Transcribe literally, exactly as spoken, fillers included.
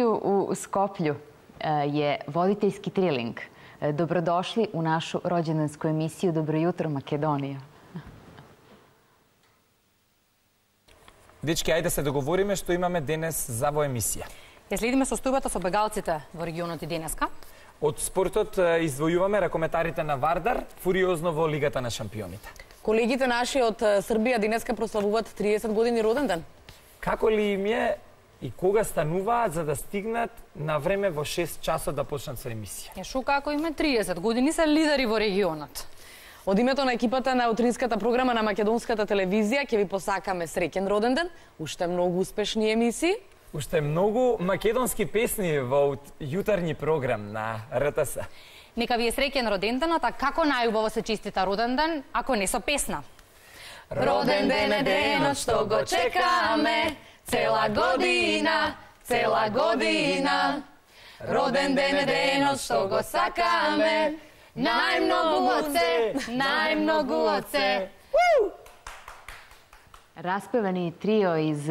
U Skoplju je voditeljski trening. Dobrodošli u našu rođendansku emisiju Dobro jutro Makedonija. Дечки, ајде се договориме што имаме денес за во емисија. Ја следиме состојбата со бегалците во регионот и денеска. Од спортот издвојуваме ракометарите на Вардар фуриозно во Лигата на шампионите. Колегите наши од Србија денеска прославуваат триесет години роден ден. Како ли им е и кога стануваат за да стигнат на време во шест часот да почнат со емисија? Е шо како име триесет години се лидери во регионот. Од името на екипата на утринската програма на македонската телевизија ќе ви посакаме среќен роден ден, уште многу успешни емисии, уште многу македонски песни во јутарни програм на Р Т С. Нека ви е среќен роден денот, а како најубаво се честита роден ден, ако не со песна. Роден ден е денот што го чекаме, цела година, цела година. Роден ден е денот што го сакаме, најмногу од се, најмногу од се. Raspevani trio iz